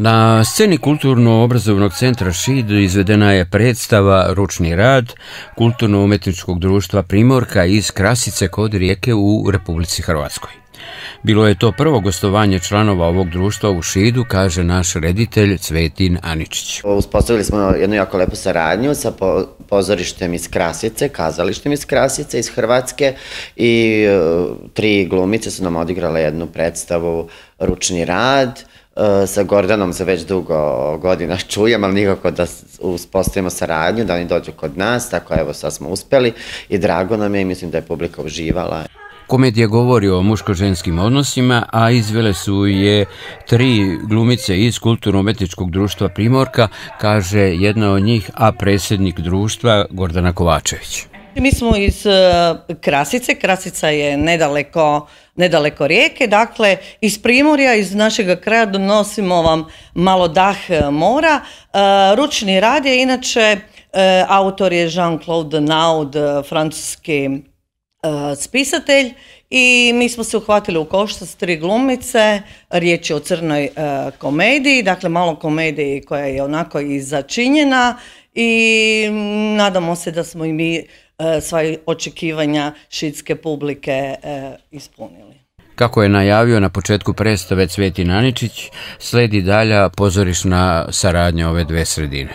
Na sceni Kulturno-obrazovnog centra Šid izvedena je predstava Ručni rad Kulturno-umetničkog društva Primorka iz Krasice kod Rijeke u Republici Hrvatskoj. Bilo je to prvo gostovanje članova ovog društva u Šidu, kaže naš reditelj Cvetin Aničić. Uspostavili smo jednu jako lepu saradnju sa pozorištem iz Krasice, kazalištem iz Krasice, iz Hrvatske, i 3 glumice su nam odigrale jednu predstavu Ručni rad. Sa Gordanom se već dugo godina čujem, ali nikako da uspostavimo saradnju, da oni dođu kod nas, tako evo sad smo uspeli i drago nam je i mislim da je publika uživala. Komedija govori o muško-ženskim odnosima, a izvele su je 3 glumice iz Kulturno-umetničkog društva Primorka, kaže jedna od njih, a predsjednik društva Gordana Kovačević. Mi smo iz Krasice, Krasica je nedaleko Rijeke, dakle iz Primorja, iz našega kraja donosimo vam malo dah mora. Ručni rad je inače, autor je Jean-Claude Naud, francuski spisatelj, i mi smo se uhvatili u koštac s 3 glumice. Riječ je o crnoj komediji, dakle malo komediji koja je onako i začinjena, i nadamo se da smo i mi sva očekivanja šidske publike ispunili. Kako je najavio na početku predstave Cvetin Aničić, sledi dalja pozorišna saradnja ove dve sredine.